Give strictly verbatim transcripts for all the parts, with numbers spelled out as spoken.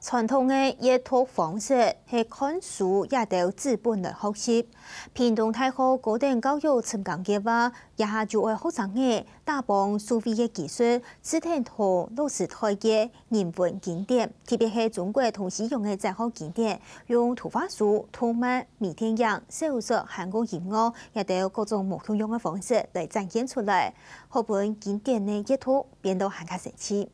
傳統个閱讀方式係看書這兜紙本來學習。屏東大學高等教育深耕計畫這下就愛學生仔打幫數位个技術，試等到落實臺个人文經典，特別係中國同西洋个哲學經典，用圖畫書、動漫、微電影、小說還過音樂這兜各種無共樣个方式來展現出來，好分經典个閱讀變到還較生趣。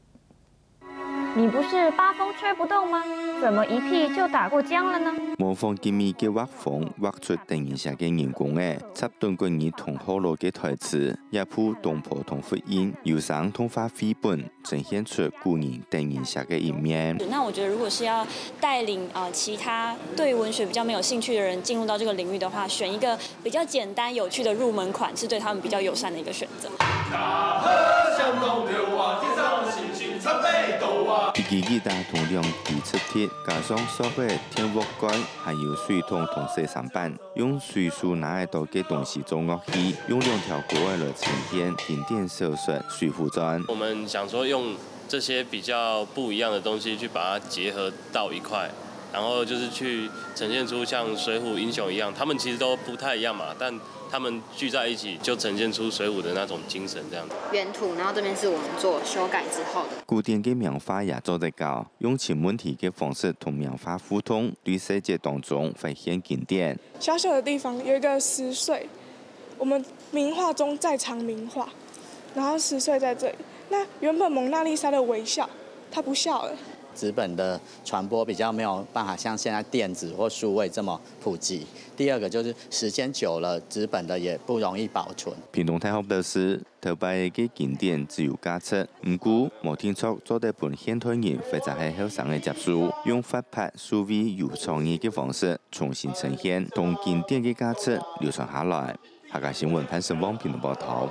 你不是八風吹不動嗎？怎麼一屁就打過漿了呢？模仿吉米个畫風，畫出得人惜个人公仔，插等國語同學老个台詞，這部東坡同佛印有聲動畫繪本，呈現出古人得人惜个一面。那我覺得，如果是要帶領呃其他對文學比較沒有興趣的人進入到這個領域的話，選一個比較簡單有趣的入門款，是對他們比較友善的一個選擇。 一支吉他同兩支直笛，加上塑膠个電鍋蓋，還有水桶同洗衫板，用隨手拿得到个東西做樂器，用兩條歌仔來呈現經典小說《水滸傳》。我們想說用這些比較不一樣的東西去把它結合到一塊，然後就是去呈現出像水滸英雄一樣，他們其實都不太一樣嘛，但他們聚在一起就呈現出水滸的那種精神這樣子。原圖，然後這邊是我們做修改之後的。古典个名畫也做得搞，用尋問題个方式同名畫互動，對細節當中發現經典。小小的地方有一個十歲，我們名畫中再藏名畫，然後十歲在這裡。那原本蒙娜麗莎的微笑，她不笑了。紙本的傳播比較沒有辦法像現在電子或數位這麼普及。第二個就是時間久了，紙本的也不容易保存。屏東大學表示，頭擺个經典只有價值，毋過無定著做得分現代人或者係後生个接受，用活潑、數位、有創意个方式重新呈現，同經典个價值流傳下來。客家新聞潘成旺屏東報導。